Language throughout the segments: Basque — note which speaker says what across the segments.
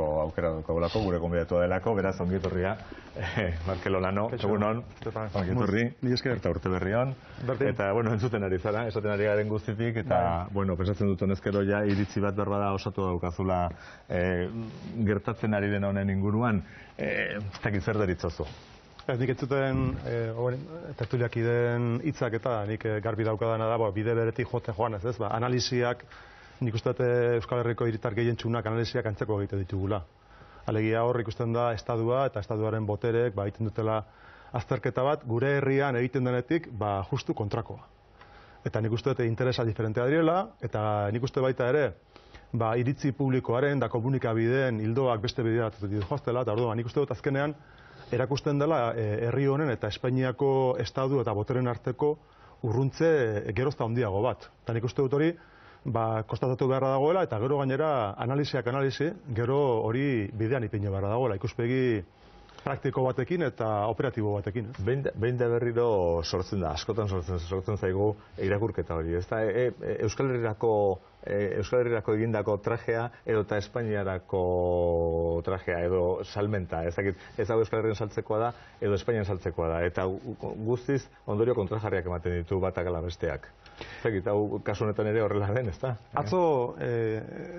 Speaker 1: izateko aukera dukagulako, gure gonbidatua delako, beraz ongi etorria. Markel Olano, egunon, ongi etorri, eta urte berri on. Eta, bueno, entzuten ari zara, esaten ari garen guztitik, eta, bueno, pensatzen dut honezkero ja iritzi bat berbada osatu daukazula gertatzen ari den honen inguruan, ez dakit zer deritzozu.
Speaker 2: Nik entzuten tertuliak ideen hitzak eta nik garbi daukadana da, bide beretik jotzen joan ez, analisiak, nik uste Euskal Herriko hiritar gehientsunak analisiak antzeko egite ditugula. Alegia hor ikusten da estadua eta estaduaren boterek egiten dutela azterketa bat, gure herrian egiten denetik justu kontrakoa. Eta nik uste interesa diferentea direla, eta nik uste baita ere, iritzi publikoaren da komunikabideen hildoak beste bidea ditu joaztela, eta orduan nik uste dut azkenean erakusten dela herri honen eta Espainiako estadu eta boteren arteko urruntze gerozta handiago bat. Eta nik uste dut hori konstatatu beharra dagoela eta gero gainera analisiak analisi, gero hori bidean ipine beharra dagoela, ikuspegi praktiko batekin eta operatibo batekin.
Speaker 1: Behin da berriro sortzen da, askotan sortzen zaigu irakurketa hori, ez da? Euskal Herrirako egindako trajea edo eta Espainiarako trajea edo salmenta, ez hau Euskal Herrien saltzekoa da edo Espainian saltzekoa da, eta guztiz ondorio kontrajarriak ematen ditu batak ala besteak. Zekit, hau kasu honetan ere horrela den, ez da?
Speaker 2: Atzo,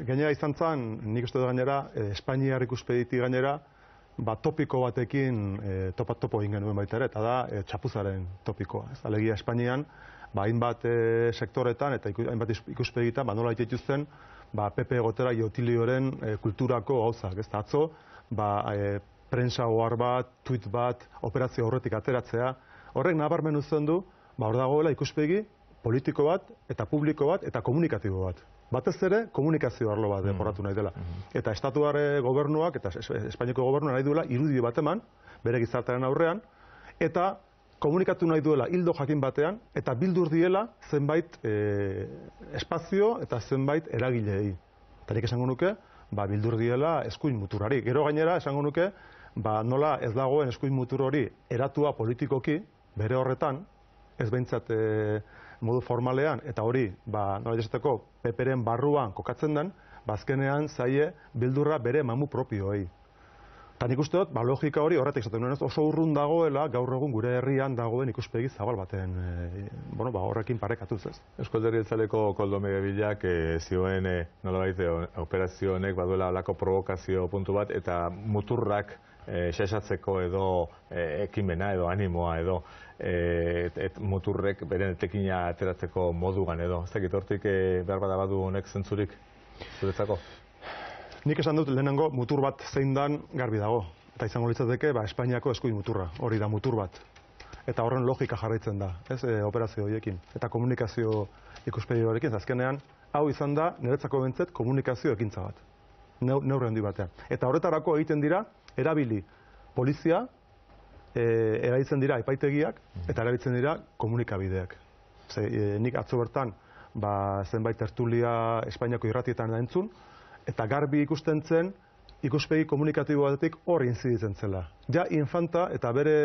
Speaker 2: gainera izan zen, nik uste dut gainera, Espainiar ikuspegiti gainera, topiko batekin topo egin genuen baita ere, eta da txapuzaren topikoa. Alegia Espainian, hainbat sektoretan eta hainbat ikuspegitan, nola dituzten, PP egotera Iotilioren kulturako gauzak. Atzo, prensa ohar bat, tuit bat, operazio horretik ateratzea, horrek nabarmen uzten du, hor dagoela ikuspegi politiko bat, eta publiko bat, eta komunikatibo bat. Batez ere, komunikazio arlo bat deporatu nahi dela. Eta estatuar gobernuak, eta Espainiako gobernuak nahi duela, irudio bat eman, bere gizartearen aurrean, eta komunikatu nahi duela hildo jakin batean, eta bildur diela zenbait espazio eta zenbait eragileei. Eta nik esango nuke, bildur diela eskuin muturari. Gero gainera, esango nuke, nola ez dagoen eskuin mutur hori eratua politikoki, bere horretan, ez behintzat modu formalean, eta hori, nola esateko, peperen barruan kokatzen den, azkenean zaie bildurra bere mamu propioei. Eta nik uste dut, logika hori horretik zaten nuen, oso urrun dagoela, gaur egun gure herrian dagoen ikuspegi zabal baten, horrekin parekatuz ez.
Speaker 1: Eusko Alderdi Jeltzaleko Koldo Medebilak zioen nolabait operazio honek baduela halako provokazio puntu bat, eta muturrak xaxatzeko edo ekimena edo animoa edo muturrek beren etekina ateratzeko moduan edo. Ez dakit hortik behar bada badu honek zentzurik zuretzako?
Speaker 2: Nik esan dut lehenengo mutur bat zein dan garbi dago. Eta izango litzateke Espainiako eskuin muturra, hori da mutur bat. Eta horren logika jarraitzen da, operazio horiekin. Eta komunikazio ikuspegi horiekin, azkenean, hau izan da niretzako bentzet komunikazio ekintza bat. Neurri handi batean. Eta horretarako egiten dira, erabili polizia, erabiltzen dira epaitegiak, eta erabiltzen dira komunikabideak. Nik atzo bertan, zenbait tertulia Espainiako irratietan da entzun, eta garbi ikusten zen, ikuspegi komunikatibo batetik hor inziditzen zela. Ja, infanta eta bere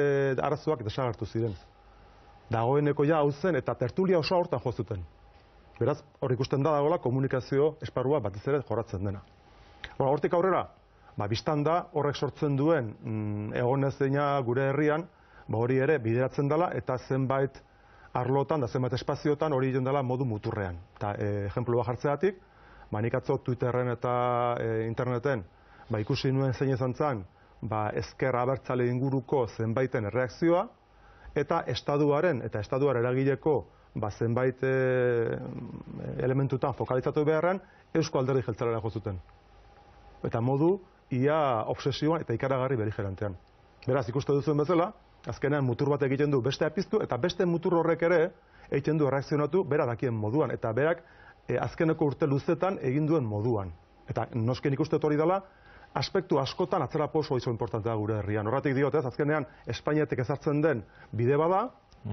Speaker 2: arazoak desagartu ziren. Dagoeneko ja hau zen, eta tertulia oso hortan jozuten. Beraz, hor ikusten da dagoela komunikazio esparrua batez ere jorratzen dena. Hortik aurrera, biztan da horrek sortzen duen egonezina gure herrian, hori ere bideratzen dela eta zenbait arlotan da zenbait espaziotan hori egiten dela modu muturrean. Eta ejemplu bat jartzeatik, nik atzo Twitterren eta interneten ikusi nuen zein izan zen ezker abertzale inguruko zenbaiten erreakzioa eta estaduaren eragileko zenbait elementutan fokalizatu beharren Eusko Alderdi Jeltzalera jo zuten. Eta modu ia obsesioan eta ikaragarri beligerantean. Beraz, ikuste duzuen bezala, azkenean mutur bat egiten du beste apiztu, eta beste mutur horrek ere egiten du erreakzionatu bera dakien moduan, eta berak azkeneko urte luzetan egin duen moduan. Eta nosken ikuste hori dela, aspektu askotan atzerapo oso importantea da gure herrian. Horretik diotez, azkenean Espainiatik ezartzen den bide bada,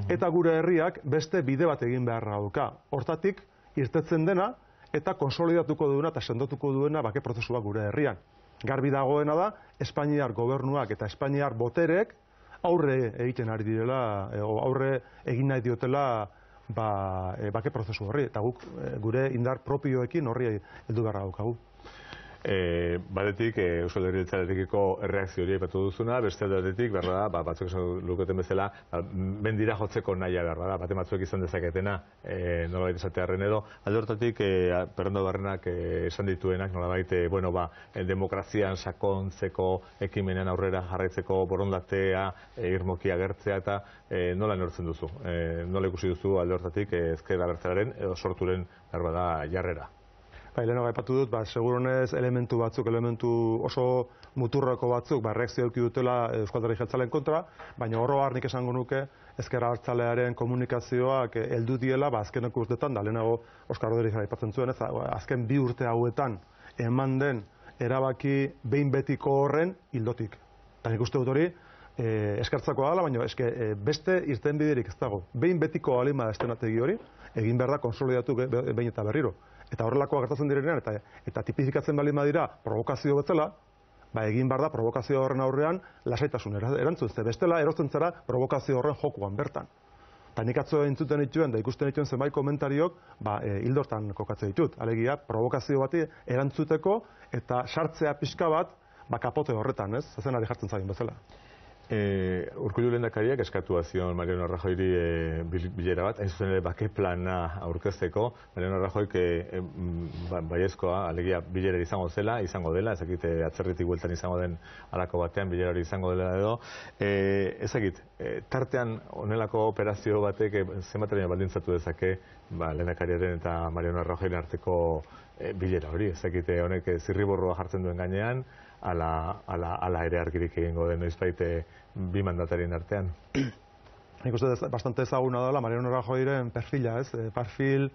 Speaker 2: eta gure herriak beste bide bat egin beharra dauka. Hortatik, irtetzen dena, eta konsolidatuko duena eta sendotuko duena bake prozesua gure herrian. Garbi dagoena da, Espainiar gobernuak eta Espainiar boterek aurre egiten ari direla, aurre egin nahi diotela bake prozesu horri, eta guk gure indar propioekin horri heldu beharra daukagu.
Speaker 1: Batetik, Euskal Herri Jeltzalearekiko erreakzio hori aipatu duzuna, beste aldetik, behar da, batzuk esan luketen bezala, mendira jotzeko naia behar da, bate batzuek izan dezaketena, nolabait esatearren edo, alde hortatik, Fernando Barrenak esan dituenak, nolabait, demokrazian sakontzeko ekimenean aurrera jarraitzeko borondatea, irmoki agertzea eta nola neurtzen duzu? Nola ikusi duzu alde hortatik ezker abertzalearen edo sorturen behar da jarrera?
Speaker 2: Lehenago aipatu dut, seguronez elementu oso muturreko batzuk, reakzio eduki dutela Euskal Herri Jeltzaleen kontra, baina oro har nik esango nuke ezker abertzalearen komunikazioak heldu diela, azkeneko urteetan, da lehenago Oskar Rodriguez aipatzen zuen, azken 2 urte hauetan eman den erabaki behin betiko horren ildotik. Eta nik uste dut hori, eskertzakoa dela, baina beste irtenbiderik ez dago. Behin betiko alima estenategi hori, egin behar da konsolidatu behin eta berriro. Eta horrelakoa gertatzen direnean, eta tipifikatzen baldin badira provokazio bezala, egin behar da provokazio horren aurrean lasaitasun erantzun. Ze bestela erosten zara provokazio horren jokuan bertan. Eta nik atzo entzuten dituen, da ikusten dituen zenbait komentariok, hildortan kokatzen ditut. Alegia, provokazio bati erantzuteko eta sartzea pixka bat, kapote horretan, ez? Zezenari jartzen zaien bezala.
Speaker 1: Urkullu lehendakariak eskatu zion Mariano Rajoyri bilera bat, hain zuzen ere bake plana aurkezteko. Mariano Rajoyk baiezkoa, alegia bilera izango dela, ezakit atzerritik bueltan izango den halako batean, bilera hori izango dela edo. Ezakit, tartean honelako operazio batek zenbateraino baldintzatu dezake lehendakariaren eta Mariano Rajoyren arteko bilera hori, ezakit honek zirriborroa jartzen duen gainean, ala ere argirik egingo den noizbait bi mandatarien artean.
Speaker 2: Nik uste bastante ezaguna dela Mariano Rajoyren perfila, ez? Perfil,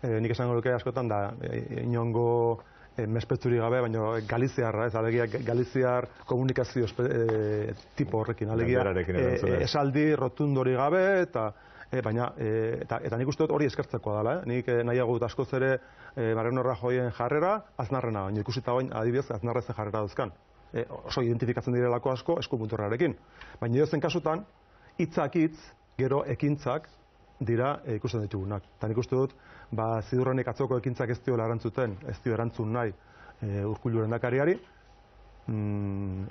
Speaker 2: nik esango luke askotan da, inongo mespetzurik gabe, baina galiziarra, ez? Alegia galiziar komunikazio tipo horrekin, alegia esaldi rotundori gabe, eta nik uste dut hori eskertzekoa dela, nik nahiago dut askoz ere Mariano Rajoyen jarrera, Aznarrena, baina ikusita bain adibidez Aznarrezen jarrera dauzkan. Oso identifikatzen direlako asko eskupunturrarekin. Baina edozen kasutan, hitzak hitz, gero ekintzak dira ikusten ditugunak. Eta nik uste dut, zidurrenik atzoko ekintzak ez diola erantzuten, ez dio erantzun nahi Urkullu lehendakariari,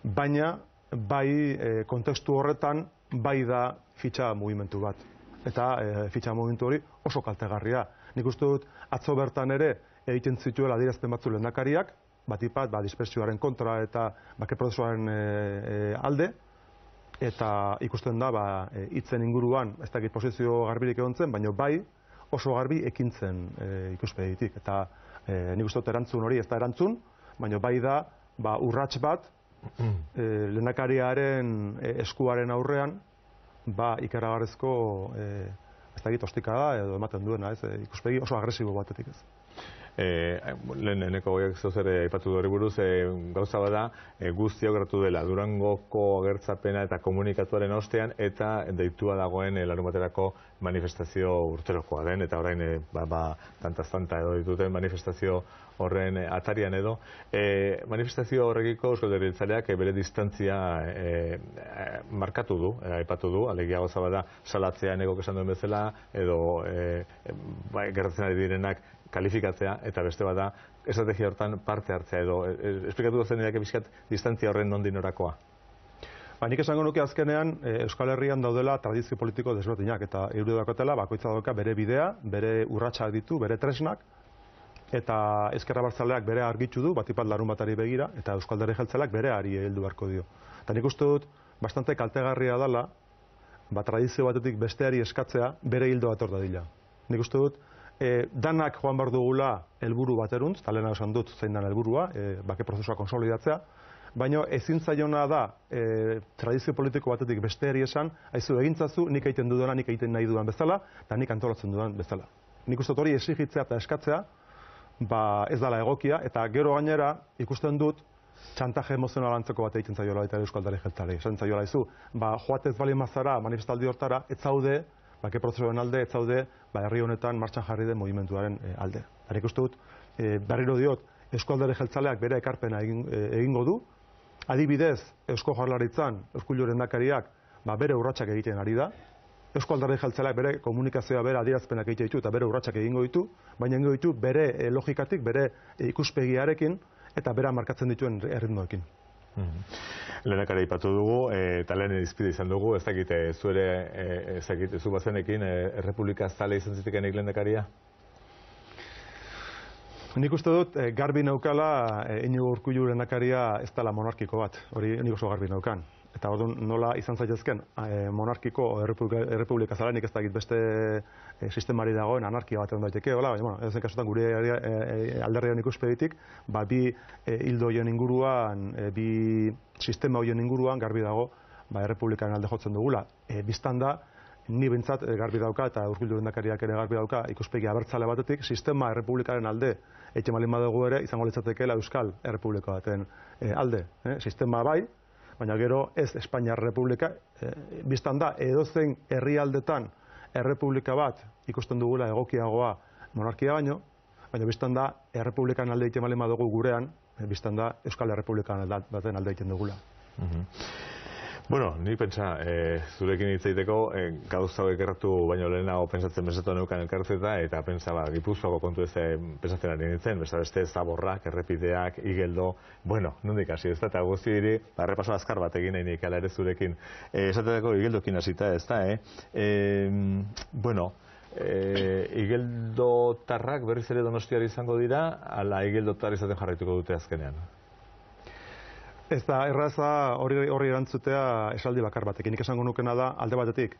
Speaker 2: baina bai kontestu horretan bai da fitxa mugimendu bat. Eta fitxa mugimendu hori oso kaltegarria. Nik uste dut, atzo bertan ere egiten zituela adierazpen batzu lehendakariak, batipat, dispersioaren kontra eta bake prozesuaren alde, eta ikusten da, hitzen inguruan, ez dakit posizio garbirik egon zen, baina bai oso garbi ekintzen ikuspegitik. Eta nik uste dut erantzun hori ez da erantzun, baina bai da urrats bat lehendakariaren eskuaren aurrean, ikaragarrezko ez dakit ostikada edo ematen duena, ikuspegi oso agresibo batetik ez.
Speaker 1: Leheneko goiak zozere aipatu hori buruz, gauza bada guzti hau gertatu dela Durangoko agertzapena eta komunikatuaren ostean eta deitua dagoen larunbaterako manifestazio urterokoa den, eta orain tantaz-tanta edo dituten manifestazio horren atarian edo. Manifestazio horrekiko Euskal Herri Jeltzaleak bere distantzia markatu du, aipatu du, alegia gauza bada salatzea negok esan duen bezala, edo gertatzen ari direnak kalifikatzea, eta beste bada estrategia hortan parte hartzea edo. Esplikatu duzen edake bizkat distantzia horren nondik norakoa?
Speaker 2: Nik esango nuke azkenean Euskal Herrian daudela tradizio politiko desberdinak, eta euro dakotela bakoitza dauka bere bidea, bere urratsak ditu, bere tresnak, eta ezker abertzaleak bere argitu du, batipat larunbatari begira, eta Euskal Herri Jeltzaleak bere ari heldu beharko dio. Eta nik uste dut, bastante kaltegarria dela, tradizio batetik besteari eskatzea bere hildo bat hor dadila. Nik uste dut, danak joan behar dugula helburu bateruntz, eta lehena esan dut zein den helburua, bake prozesua konsolidatzea, baina ezin zaiona da tradizio politiko batetik besteari esan, haizu egintzazu, nik egiten dudana, nik egiten nahi dudan bezala, eta nik antolatzen dudan bezala. Nik uste dut hori exigitzea eta eskatzea, ez dela egokia, eta gero gainera ikusten dut txantaje emozional antzeko bat egiten zaiola baita Euskal Herri Jeltzaleei. Esan zaiola izu, joatez bali mazara manifestaldi hortara, ez zaude, bake prozesuaren alde, ez zaude, herri honetan martxan jarri den mugimenduaren alde. Nik uste dut, berriro diot, Euskal Herri Jeltzaleak bere ekarpena egingo du, adibidez, Eusko Jaurlaritzan, Urkullu lehendakariak, bere urratsak egiten ari da, Euskal Herri Jeltzaleak bere komunikazioa, bere adierazpenak egiten ditu eta bere urratsak egingo ditu, baina egingo ditu bere logikatik, bere ikuspegiarekin, eta bera markatzen dituen erritmoekin.
Speaker 1: Lehendakari aipatu dugu, eta lehen izpide izan dugu, ez dakit, zu bazenekin, Errepublika zale izan zitekenik lehendakaria?
Speaker 2: Nik uste dut, garbi naukala, Iñigo Urkullu lehendakaria ez dela monarkiko bat, hori nik oso garbi naukan. Eta orduan nola izan zaitezken monarkiko o errepublika zala, nik ez dakit beste sistemari dagoen anarkia bat egon daiteke, hola, baina, edozein kasutan gure alderrian ikuspegitik, bi hildo horien inguruan, bi sistema horien inguruan garbi dago, errepublikan alde jotzen dugula. Bistan da, ni bintzat garbi dauka, eta Urkullu lehendakariak ere garbi dauka, ikuspegi abertzale batetik, sistema errepublikaren alde, etxe malin badugu ere, izango litzatekeela Euskal Errepublika baten alde. Sistema bai, baina gero ez Espainiar Errepublika, biztan da, edozein herrialdetan errepublika bat ikusten dugula egokiagoa monarkia baino, baina biztan da, errepublikan alde egiten malin badugu gurean, biztan da, Euskal Errepublikan baten alde egiten dugula.
Speaker 1: Bueno, ni pentsa, zurekin hitz egiteko, gauza hauek erratu baino lehenago pentsatzen neukan elkarrizketa, eta pentsa, Gipuzkoako kontu ez pentsatzen ari nintzen, beste Zaborrak, errepideak, Igeldo, bueno, nondik hasi ez da, eta guzti diri, errepaso azkar bat egin nahi nik ala ere zurekin. Esatetako Igeldokin hasita ez da, bueno, Igeldotarrak berriz ere Donostiari izango dira, ala Igeldotar izaten jarraituko dute azkenean?
Speaker 2: Ez da, erraza horri erantzutea esaldi bakar batekin. Nik esango nukena da, alde batetik,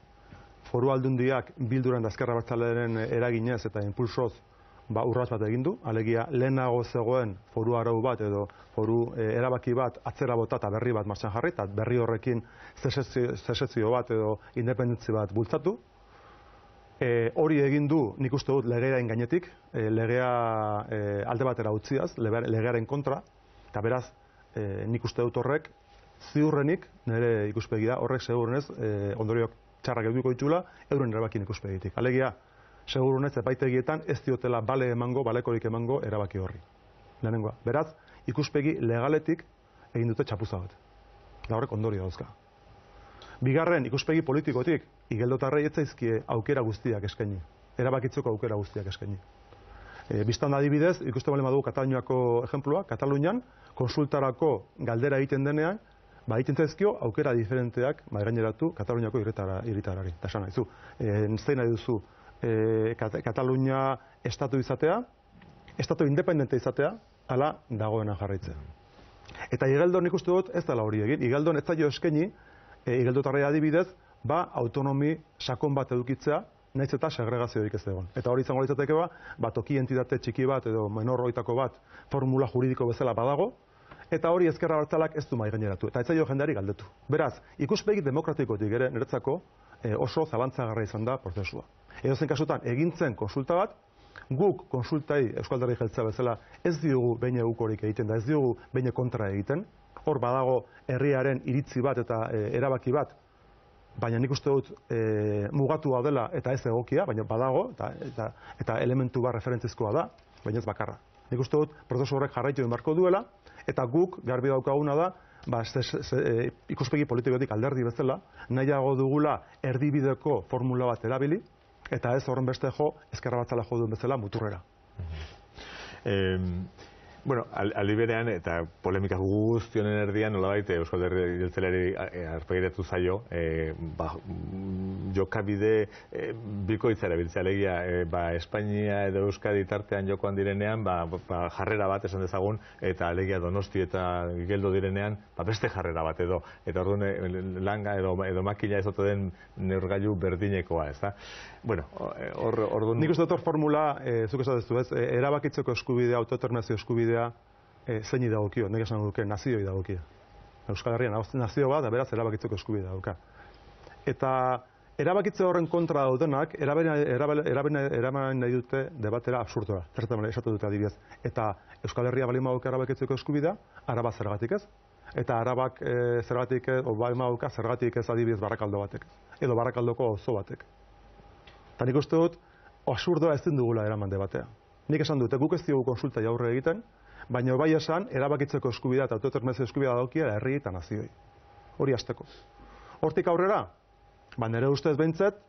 Speaker 2: foru aldundiak bilduran da Ezker Abertzalearen eraginez eta impulsoz urrats bat egin du. Alegia, lehenago zegoen foru arau bat edo foru erabaki bat atzera bota eta berri bat martxan jarri, eta berri horrekin zesezio bat edo independentzi bat bultzatu. Hori egin du, nik uste dut, legearen gainetik, legea alde batera utziaz, legearen kontra, eta beraz, nik uste dut horrek, ziurrenik, nire ikuspegi da, horrek segurunez, ondoriok txarrak eduko ditula, euren erabakin ikuspegitik. Alegia, segurunez, epaitegietan ez diotela balekorik emango erabaki horri. Lehenengoa. Beraz, ikuspegi legaletik egin dute txapuza bat. Da horrek ondorio dauzka. Bigarren, ikuspegi politikotik, Igeldotarrei ez zaizkie aukera guztiak eskaini. Erabakitzeko aukera guztiak eskaini. Bistan adibidez, ikusten bale badugu Kataluniako ejemplua, Katalunian, konsultarako galdera egiten denean, egiten zaizkio aukera diferenteak gaineratu Kataluniako hiritarrari. Eta esan nahizu, zein nahi duzu Katalunia estatu izatea, estatu independente izatea, ala dagoena jarraitzea. Eta Igeldon ikustu dut ez dela hori egin. Igeldon ez zaio eskaini, Igeldotarrei adibidez, autonomi sakon bat edukitzea, nahiz eta segregaziorik ez egon. Eta hori izango litzateke toki entitate txiki bat edo menor hoitako bat formula juridiko bezala badago, eta hori Ezker Abertzaleak ez du mahai gaineratu. Eta ez zaio jendeari galdetu. Beraz, ikuspegi demokratikotik ere niretzako oso zalantzagarra izan da prozesua. Edozein kasutan, egintzen konsulta bat, guk konsultai Euskal Alderdi Jeltzalea bezala ez diogu behin egukorik egiten da, ez diogu behin kontra egiten. Hor badago herriaren iritzi bat eta erabaki bat, baina nik uste dut mugatua dela eta ez egokia, baina badago, eta elementu bat referentzizkoa da, baina ez bakarra. Nik uste dut prozesu horrek jarraitu egin beharko duela, eta guk garbi daukaguna da, ikuspegi politikotik alderdi bezala, nahiago dugula erdibideko formula bat erabili, eta ez horren beste Ezker Abertzalea jo duen bezala muturrera.
Speaker 1: Bueno, aldi berean, eta polemika guztionen erdian, nolabait Euskal Alderdi Jeltzaleari arpegiratu zaio, jokabide bikoitza erabiltzea, alegia, Espainia edo Euskadi tartean jokoan direnean, jarrera bat esan dezagun, eta alegia Donosti eta Igeldo direnean, beste jarrera bat edo, eta orduan langa edo makina ez ote den neurgailu berdinekoa, ez da? Bueno, orduan...
Speaker 2: Nik uste dut hor formula, zuk esatezu ez, erabakitzeko eskubidea, autodeterminazio eskubidea, zeini dagokio, nik esan duke nazioei dagokio. Euskal Herrian nazio bat, beraz erabakitzeko eskubidea dauka. Eta erabakitze horren kontra daudenak, eraben nahi dute debatera absurdora. Zerretan esatu dute adibidez. Eta Euskal Herria balin badauka erabakitzeko eskubidea, Araba zergatik ez. Eta Arabak zergatik ez, balin badauka zergatik ez adibidez Barakaldo batek. Edo Barakaldoko auzo batek. Eta nik uste dut, absurdoa ez dugula eraman debatea. Nik esan dute, guk ez diogu konsulta jaurre egiten, baina bai esan, erabakitzeko eskubidea eta autodeterminazio eskubidea daukia herri eta nazioi. Hori hasteko. Hortik aurrera, nire ustez behintzat,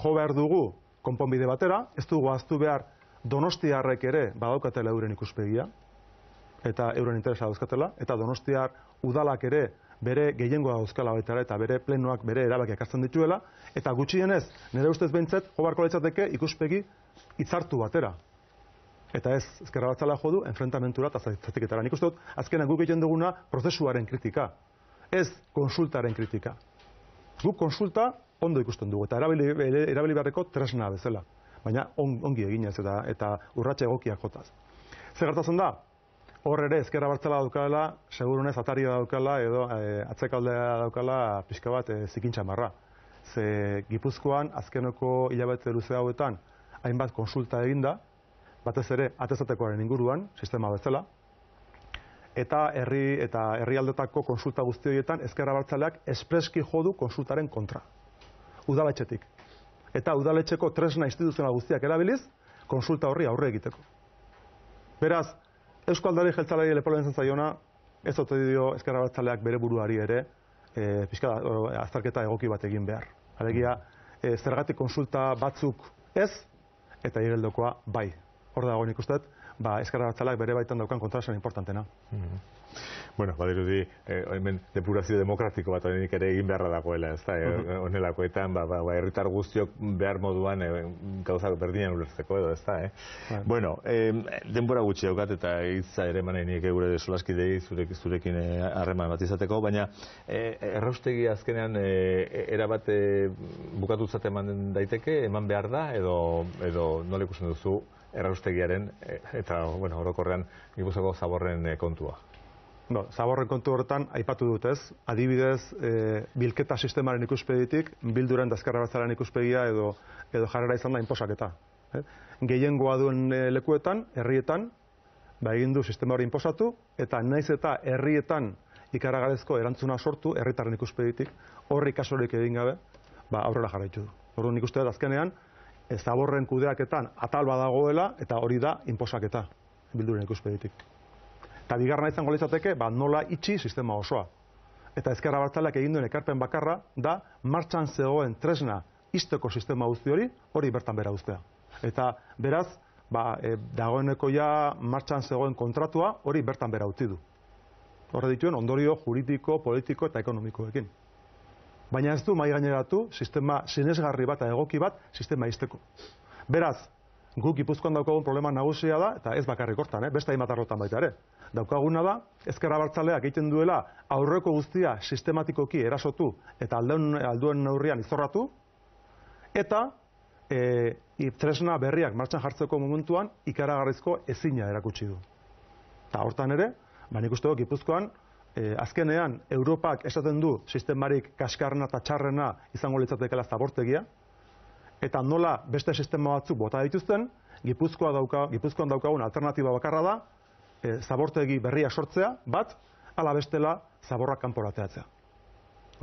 Speaker 2: jo behar dugu konponbide batera, ez dugu ahaztu behar Donostiarrek ere badaukatela euren ikuspegia, eta euren interesa dauzkatela, eta Donostiar udalak ere bere gehiengoa dauzkala baita ere, eta bere plenoak bere erabakiak hartzen dituela, eta gutxienez, nire ustez behintzat, jo beharko litzateke ikuspegi hitzartu batera. Eta ez, ezker abertzalea jo du, enfrentamentura eta zatiketara. Nik uste dut, azkenan guk egiten duguna prozesuaren kritika, ez konsultaren kritika. Guk konsulta ondo ikusten dugu, eta erabili beharreko tresna bezala, baina ongi eginez eta urratxe egokiak jotaz. Zer gertatzen da? Hor ere, ezker abertzala daukala, segurunez ataria daukala, edo atzekaldea daukala pixka bat zikintza marra. Ze Gipuzkoan, azkeneko hilabete luze hauetan, hainbat konsulta eginda, batez ere atezatekoaren inguruan, sistema bezala, eta herrialdetako konsulta guzti horietan ezker abertzaleak espreski jodu konsultaren kontra. Udaletxetik. Eta udaletxeko tresna instituzional guztiak erabiliz, konsulta horri aurre egiteko. Beraz, Eusko Alderdi Jeltzaleari leporatzen zaiona, ez ote dio ezker abertzaleak bere buruari ere azterketa egoki bat egin behar. Alegia, zergatik konsulta batzuk ez, eta igeldokoa bai. Hor dago nik uste, ezker abertzaleak bere baitan daukan kontrasen importantena.
Speaker 1: Bueno, badirudi, hemen depurazio demokratiko bat honenik ere egin beharra dagoela, ez da, honelakoetan, herritar guztiok behar moduan gauzak berdinan ulertzeko edo, ez da, Bueno, denbora gutxi daukat eta hitza ere eman nahi gure solaskidei zurekin harreman bat izateko, baina erraustegi azkenean erabat bukatutzat eman daiteke, eman behar da, edo nola ikusten duzu erraustegiaren eta, bueno, orokorrean Gipuzkoako zaborren kontua.
Speaker 2: Zaborren kontu horretan, aipatu dut ez, adibidez, bilketa sistemaren ikuspegitik, bilduren da ezker abertzalearen ikuspegia edo jarrera izan da inposaketa. Gehiengoa duen lekuetan, herrietan, egin du sistema hori inposatu, eta naiz eta herrietan ikaragarrizko erantzuna sortu, herritarren ikuspegitik, horri kasurik egin gabe, aurrera jarraitu du. Orduan nik uste dut azkenean, zaborren kudeaketan atal badagoela, eta hori da inposaketa, bilduren ikuspegitik. Eta bigarrena izango litzateke, nola itxi sistema osoa. Eta ezker abertzaleak egin duen ekarpen bakarra da martxan zegoen tresna ixteko sistema guzti hori bertan bera uztea. Eta beraz, dagoeneko ja martxan zegoen kontratua hori bertan bera utzi du. Horre dituen ondorio juridiko, politiko eta ekonomikoekin. Baina ez du mahai gaineratu sistema sinesgarri bat eta egoki bat sistema ixteko. Beraz, guk Gipuzkoan daukagun problema nagusia da, eta ez bakarrik hortan, beste hainbat arlotan baita ere. Daukaguna da, ezker abertzaleak egiten duela aurreko guztia sistematikoki erasotu eta alduen neurrian izorratu, eta tresna berriak martxan jartzeko momentuan ikaragarrizko ezina erakutsi du. Eta hortan ere, nik uste dut Gipuzkoan, azkenean Europak esaten du sistemarik kaskarrena eta txarrena izango litzatekeela zabortegia, eta nola beste sistema batzuk bota dituzten, Gipuzkoan daukagun alternatiba bakarra da, zabortegi berria sortzea, bat, ala bestela zaborrak kanporateatzea.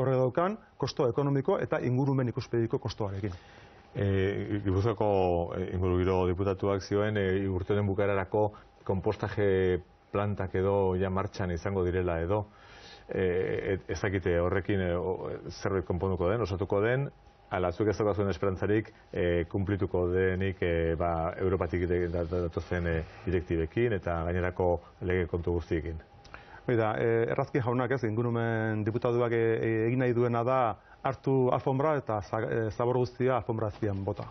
Speaker 2: Horre daukan, kosto ekonomiko eta ingurumen ikuspegiko kostoarekin.
Speaker 1: Gipuzkoako ingurugiro diputatuak zioen, urte honen bukaerarako konpostaje plantak edo ja martxan izango direla edo, ezakite horrekin zerbait konponduko den, osatuko den, ala zuk ez daukazuen esperantzarik kumplituko denik Europatik datozen direktibekin eta gainerako lege kontu guztiekin.
Speaker 2: Errazki jaunak ez, ingurumen diputatuak egin nahi duena da hartu alfombra eta zabor guztia alfombra azpian bota.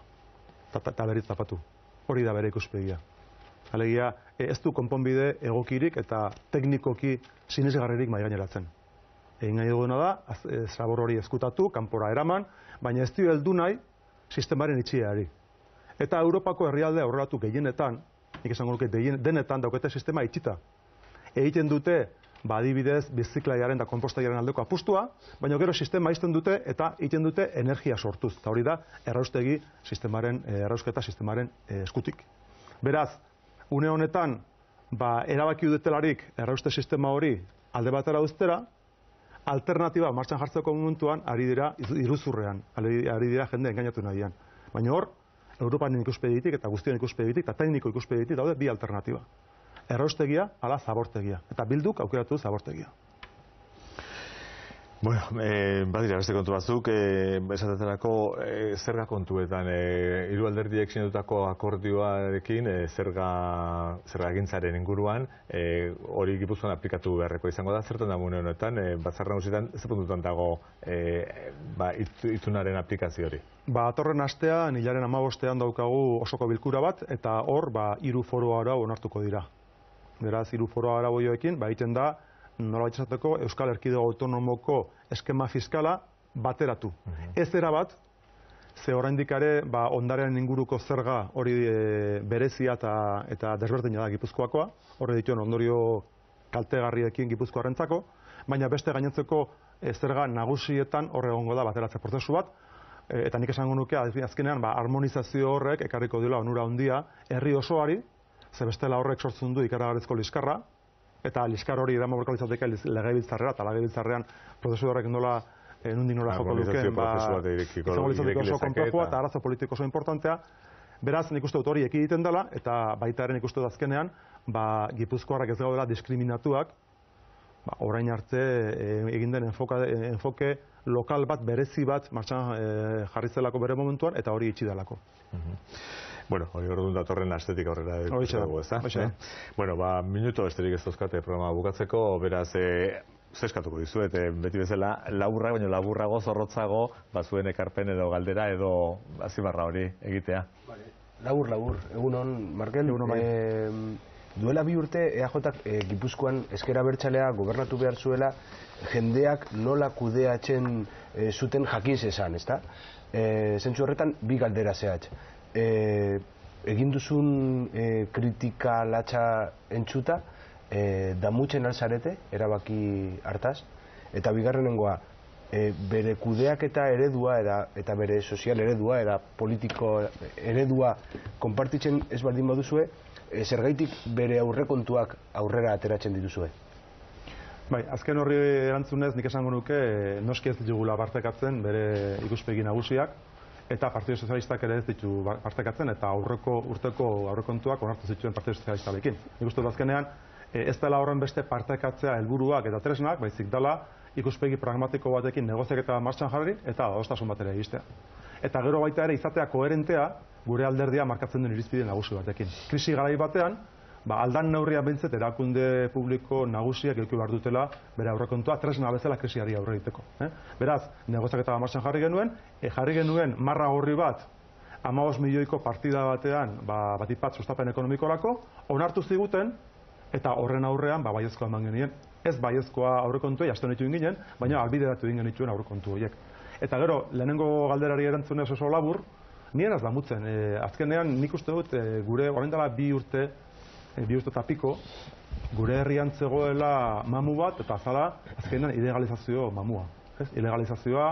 Speaker 2: Eta berriz zapatu. Hori da bere ikuspegia. Alegia, ez du konponbide egokirik eta teknikoki sinesgarririk mahai gaineratzen. Egin nahi duena da, zabor hori ezkutatu, kanpora eraman, baina ez dio heldu nahi sistemaren itxieari. Eta Europako herrialde aurreratu gehienetan, nik esango nuke denetan daukete sistema itxita. Egiten dute, adibidez, biziklaiaren eta konpostaiaren aldeko apustua, baina gero sistema izten dute eta egiten dute energia sortuz. Eta hori da, errausketa sistemaren eskutik. Beraz, une honetan, erabaki dutelarik errauste sistema hori alde batera uztera, alternatiba martxan jartzeko momentuan ari dira iruzurrean, ari dira jende engainatu nahian. Baina hor, Europan ikuspegitik eta guztion ikuspegitik eta tekniko ikuspegitik daude bi alternatiba. Erraustegia, ala zabortegia. Eta bilduk aukeratu zabortegia.
Speaker 1: Bueno, badira beste kontu batzuk, esatetarako zerga kontuetan, hiru alderdiek sinatutako akordioarekin zergagintzaren inguruan, hori Gipuzkoan aplikatu beharreko izango da, zertan da mune honetan, batzar nagusietan zer puntutan dago itunaren aplikazio hori?
Speaker 2: Atorren astean, hilaren 15ean daukagu osoko bilkura bat, eta hor, 3 foru arau onartuko dira. Beraz, 3 foru arau joekin, egiten da, nolabait esateko Euskal Erkidego Autonomoko eskema fiskala bateratu. Ez erabat, ze oraindik ere ondaren inguruko zerga hori berezia eta desberdina da Gipuzkoakoa, horre dituen ondorio kaltegarriekin Gipuzkoarrentzako, baina beste gainontzeko zerga nagusietan horre egongo da bateratze prozesu bat, eta nik esango nuke azkenean harmonizazio horrek ekarriko dela onura handia herri osoari, ze bestela horrek sortzen du ikaragarrizko liskarra, eta liskar hori eraman borko litzateke legebiltzarrera, eta legebiltzarrean prozesu horrek nola nundik nola joko lukeen, izango litzateke oso konplexua eta arazo politiko oso importantea. Beraz, nik uste dut hori ekiditen dela, eta baita ere nik uste dut azkenean, Gipuzkoarrak ez gaudela diskriminatuak, orain arte egin den enfoke lokal bat, berezi bat, martxan jarri zelako bere momentuan, eta hori itxi delako.
Speaker 1: Bueno, hori orduan datorren astetik aurrera dugu, ezta? Bueno, minuto besterik ez dauzkate programa bukatzeko, beraz, zeskatuko dizuet, beti bezala, laburra, baina laburrago, zorrotzago, zuen ekarpen edo galdera edo azimarra hori egitea.
Speaker 3: Labur, egunon, Markel, duela 2 urte EAJak Gipuzkoan ezker abertzalea gobernatu behar zuela jendeak nola kudeatzen zuten jakiz esan, ezta? Zentzu horretan, 2 galdera zehatz. Egin duzun kritika latxa entzuta, damutzen alzarete, erabaki hartaz, eta bigarrenengoa, bere kudeaketa eredua eta bere sozial eredua eta politiko eredua konpartitzen ez baldin baduzue, zergaitik bere aurrekontuak aurrera ateratzen dituzue?
Speaker 2: Bai, azken horri erantzunez nik esango nuke noski ez ditugula partekatzen bere ikuspegi nagusiak, eta Partido Sozialistak ere ez ditu partekatzen, eta aurreko urteko aurrekontuak onartu zituen Partido Sozialistarekin. Nik uste dut azkenean, ez dela horren beste partekatzea helburuak eta tresnak, baizik dela ikuspegi pragmatiko batekin negoziaketa martxan jarri eta adostasun batera egistea. Eta gero baita ere izatea koherentea gure alderdia markatzen duen irizpide nagusi batekin. Krisi garai batean, aldan neurria behintzet erakunde publiko nagusiak eduki behar dutela bere aurrekontua tresna bezala krisiari aurre egiteko. Beraz, negoziaketa martxan jarri genuen marra gorri bat 15 milioiko partida batean batik bat sustapen ekonomikorako, onartu ziguten, eta horren aurrean baiezkoa eman genien. Ez baiezkoa aurrekontuei aste honetu ginen, baina albideratu egin genituen aurrekontu horiek. Eta gero, lehenengo galderari erantzunez oso labur, nien ez damutzen. Azkenean nik uste dut gure orain dela 2 urte eta piko, gure herrian zegoela mamu bat, eta azala azkenean ilegalizazio mamua. Ilegalizazioa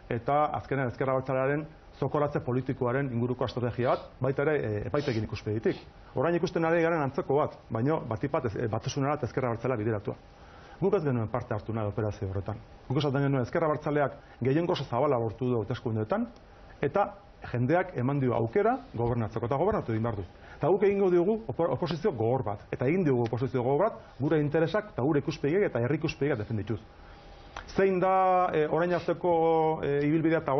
Speaker 2: eta azkenean ezker abertzalearen zokoratze politikoaren inguruko estrategia bat, baita ere epaitekin ikuspegitik. Orain ikusten ari garen antzeko bat, baina batik bat batasunera eta ezker abertzalea bideratua. Guk ez genuen parte hartu nahi operazio horretan. Guk esaten genuen ezker abertzaleak gehiengo zabala lortu du hauteskundeetan, eta jendeak eman dio aukera gobernatzeko, eta gobernatu egin behar du. Eta guk egingo diogu oposizio gogor bat. Eta egin diogu oposizio gogor bat, gure interesak eta gure ikuspegiak eta herri ikuspegiak defendituz. Zein da orain arteko ibilbidea eta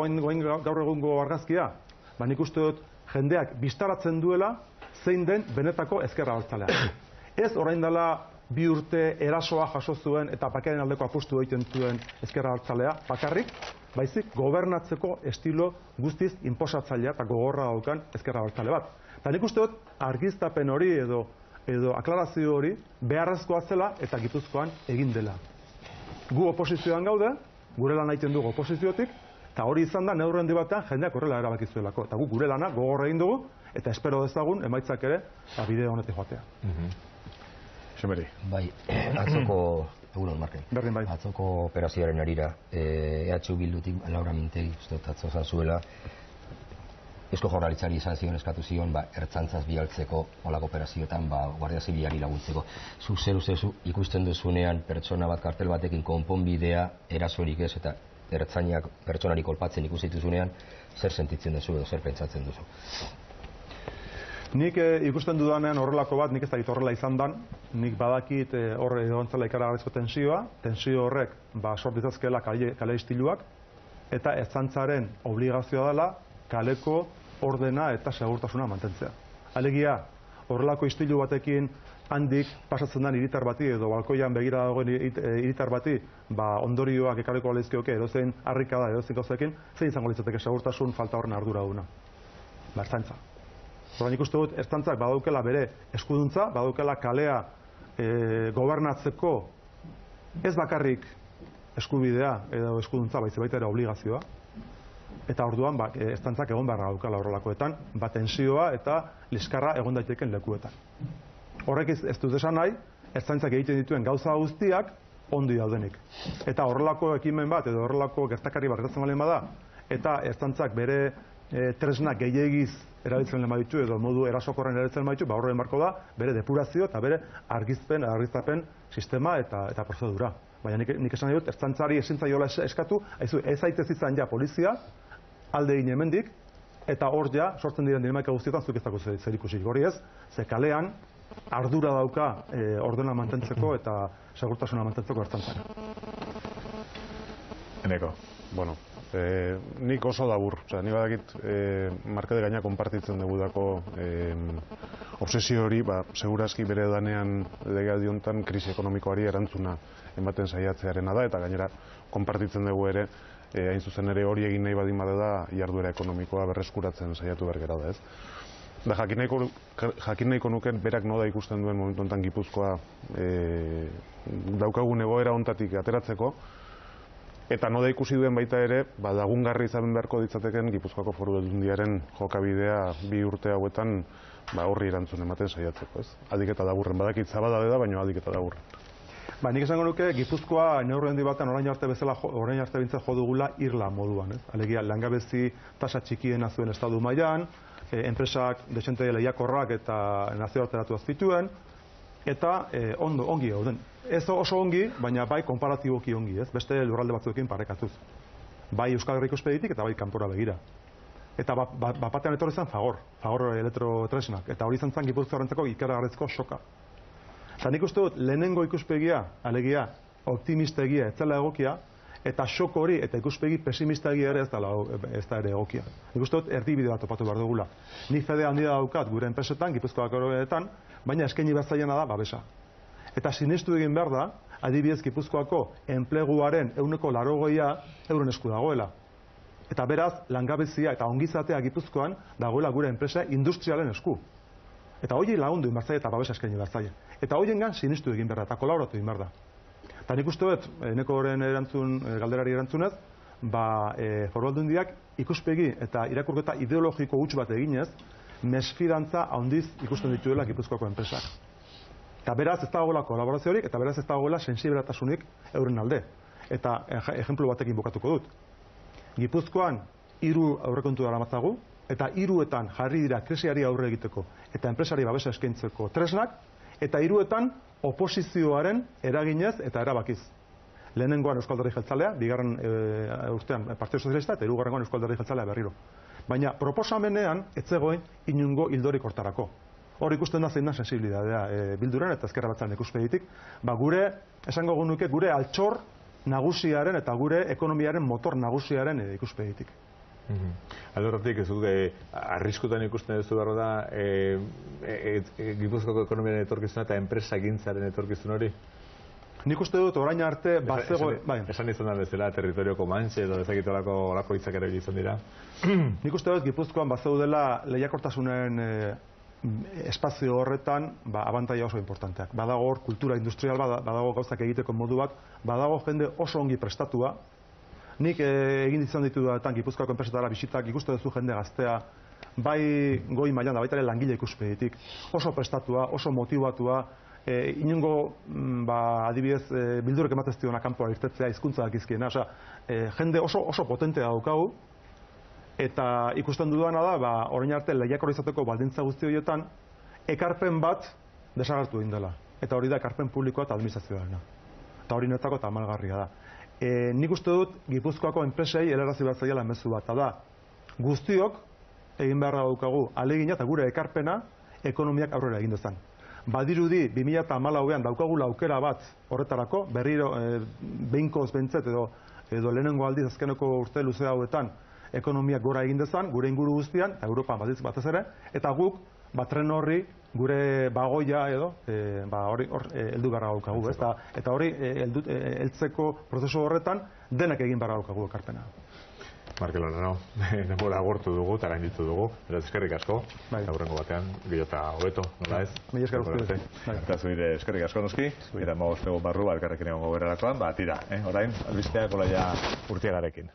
Speaker 2: gaur egungo argazkia? Nik uste dut jendeak bistaratzen duela zein den benetako ezker abertzalea. Ez orain dela 2 urte erasoa jaso zuen eta bakearen aldeko apustu egiten zuen ezker abertzalea bakarrik, baizik gobernatzeko estilo guztiz inposatzailea eta gogorra daukan ezker abertzale bat. Eta nik uste dut argiztapen hori edo aklarazio hori beharrezkoa zela eta Gipuzkoan egin dela. Gu oposizioan gaude, gure lan egiten dugu oposiziotik, eta hori izan da neurri handi batean jendeak horrela erabakizuelako. Eta gu gure lana gogorra egin dugu, eta espero dezagun emaitzak ere bideo honetik joatea.
Speaker 1: Xemeri.
Speaker 4: Bai, atzoko, egunon, Markel.
Speaker 2: Berdin bai.
Speaker 4: Atzoko operazioaren arira, EH Bildutik Laura Mintegi, uste dut atzo zan zuela, Eusko Jaurlaritzari izan zion eskatu zion, ertzaintzaz bialtzeko olako operazioetan, Guardia Zibilari laguntzeko. Zuk zer ikusten duzunean pertsona bat kartel batekin konponbidea erasorik ez eta ertzainak pertsonari kolpatzen ikusten duzunean, zer sentitzen duzu edo zer pentsatzen duzu?
Speaker 2: Nik ikusten dudanean horrelako bat, nik ez dakit horrela izan dan, nik badakit horre egontzela ikaragarrizko tensio horrek sort ditzazkeela kale istiluak, eta ertzaintzaren obligazioa dela kaleko ordena eta segurtasuna mantentzea. Alegia, horrelako istilu batekin handik pasatzen den hiritar bati edo balkoian begira dagoen hiritar bati ondorioak ekarriko leizkioke edozein harrikada edozein gauzekin, zein izango litzateke segurtasun falta horren arduraduna? Ertzaintza. Horren ikuste dut, ertzaintzak badaukela bere eskuduntza, badaukela kalea gobernatzeko ez bakarrik eskubidea edo eskuduntza, baizik baita ere obligazioa. Eta orduan, ertzaintzak egon beharra daukala horrelakoetan, tensioa eta liskarra egon daiteken lekuetan. Horrek ez dut esan nahi, ertzaintzak egiten dituen gauza guztiak ondi daudenik. Eta horrelako ekimen bat edo horrelako gertakari bat gertatzen baldin bada, eta ertzaintzak bere tresnak gehiagiz erabiltzen baditu edo modu erasokorren erabiltzen baditu, horren marko da bere depurazio eta bere argiztapen sistema eta prozedura. Baina nik esan nahi dut, ertzaintzari ezin zaiola eskatu, ez zaitez izan ja polizia, alde egin hemendik, eta hor ja, sortzen diren dinamika guztietan zuk ez dago zer ikusi. Hori ez, ze kalean ardura dauka ordena mantentzeko eta segurtasuna mantentzeko ertzaintzak.
Speaker 1: Eneko.
Speaker 5: Bueno, nik oso labur. Nik badakit markade gaina konpartitzen dugu dako obsesio hori, segurazki bere danean legealdi honetan krisi ekonomikoari erantzuna ematen saiatzearena da, eta gainera konpartitzen dugu ere, hain zuzen ere hori egin nahi badin bada da jarduera ekonomikoa berreskuratzen saiatu behar gara da, ez? Da, jakin nahiko nuken berak noda ikusten duen momentu honetan Gipuzkoa daukagun egoera honetatik ateratzeko, eta noda ikusi duen baita ere, lagungarri izan beharko ditzateken Gipuzkoako Foru Aldundiaren jokabidea 2 urte hauetan horri erantzun ematen saiatzeko, ez? Aldik eta laburren, badakit zabala da, baina aldik eta laburren.
Speaker 2: Nik esango nuke, Gipuzkoa neurri handi batean orain arte bintzat jo dugula irla moduan, ez? Alegia, langabezi tasa txikiena zuen estatu mailan, enpresak desente lehiakorrak eta nazioarteratu azpituen, eta ongi gauden. Ez oso ongi, baina bai konparatiboki ongi, ez? Beste lurralde batzuekin parekatuz. Bai Euskal Herriko Espeditik eta bai kanpora begira. Eta batean etorri zen Fagor elektrotresnak, eta hori izan zen Gipuzkoarentzako ikaragarrizko soka. Eta nik uste dut, lehenengo ikuspegia, alegia, optimistegia, ez dela egokia, eta sok hori eta ikuspegi pesimistegia ere ez da ere egokia. Nik uste dut, erdibide bat topatu behar dugula. Ni fede handia daukat gure enpresetan, Gipuzkoako oroetan, baina eskaini behar zaiena da babesa. Eta sinestu egin behar da, adibidez Gipuzkoako enpleguaren 80% euren esku dagoela. Eta beraz, langabezia eta ongizatea Gipuzkoan dagoela gure enpresa industrialen esku. Eta hori lagundu egin behar zaila eta babesa eskaini behar zaila. Eta horiengan sinestu egin behar da, eta kolaboratu egin behar da. Eta nik uste dut, Enekoren galderari erantzunez, Foru Aldundiak ikuspegi eta irakurketa ideologiko huts bat eginez, mesfidantza handiz ikusten dituela Gipuzkoako enpresak. Eta beraz ez dagoela kolaboraziorik, eta beraz ez dagoela sensibilatasunik euren alde. Eta ejemplu batekin bukatuko dut. Gipuzkoan 3 aurrekontu daramatzagu, eta 3etan jarri dira krisiari aurre egiteko eta enpresari babesa eskaintzeko tresnak, eta 3etan oposizioaren eraginez eta erabakiz. Lehenengoan Euskal Alderdi Jeltzalea, bigarren urtean Partido Sozialista, eta 3. Euskal Alderdi Jeltzalea berriro. Baina proposamenean ez zegoen inongo ildorik hortarako. Hor ikusten da zein da sensibilitatea Bilduren eta Ezker Abertzalearen ikuspegitik, gure, esango genuke, gure altxor nagusiaren eta gure ekonomiaren motor nagusiaren ikuspegitik.
Speaker 1: Aldorratik, ez dut, arriskutan ikusten ez du behar da Gipuzkoako ekonomiaren etorkizuna eta enpresagintzaren etorkizun hori?
Speaker 2: Nik uste dut orain arte
Speaker 1: Esan izan da bezala, territorioko mantxe edo ezakitolako olako hitzak ere izan dira.
Speaker 2: Nik uste dut Gipuzkoan bazeudela lehiakortasunen espazio horretan abantaia oso importanteak. Badago hor kultura industrial, badago gauzak egiteko modu bat, badago jende oso ongi prestatua. Nik egin izan ditu daetan Gipuzkoako enpresetara bisitak, ikuste duzu jende gaztea, bai goi mailan da, baita ere langile ikuspegitik, oso prestatua, oso motivatua, inongo adibidez Bildurek ematez diona kanpoa irtetzea hizkuntza dakizkiena, jende oso potentea daukagu, eta ikusten dudana da, orain arte lehiakor izateko baldintza guzti horietan, ekarpen bat desagertu egin dela. Eta hori da ekarpen publikoa eta administrazioarena. Eta hori netzako eta amalgarria da. Nik uste dut Gipuzkoako enpresei helarazi behar zaiela mezu bat. Da, guztiok egin beharra daukagu ahalegina eta gure ekarpena ekonomiak aurrera egin dezan. Badirudi 2014an daukagula aukera bat horretarako, berriro behinkoz bentzet edo lehenengo aldiz azkeneko urte luze hauetan ekonomiak gora egin dezan, gure inguru guztian, Europa batez ere, eta guk tren horri gure bagoia edo hori heldu beharra daukagu, eta hori heltzeko prozesu horretan denak egin beharra daukagu ekarpena.
Speaker 1: Markel Olano, denbora agortu dugu, eta gainditu dugu, beraz eskerrik asko, aurrengo batean, gehiota hobeto, nola ez?
Speaker 2: Mila esker guzti.
Speaker 1: Eta zuire eskerrik asko noski, eta magoztego barru, elkarrekin egongo berrerakoan, tira, orain, albisteak olaia Urtiagarekin.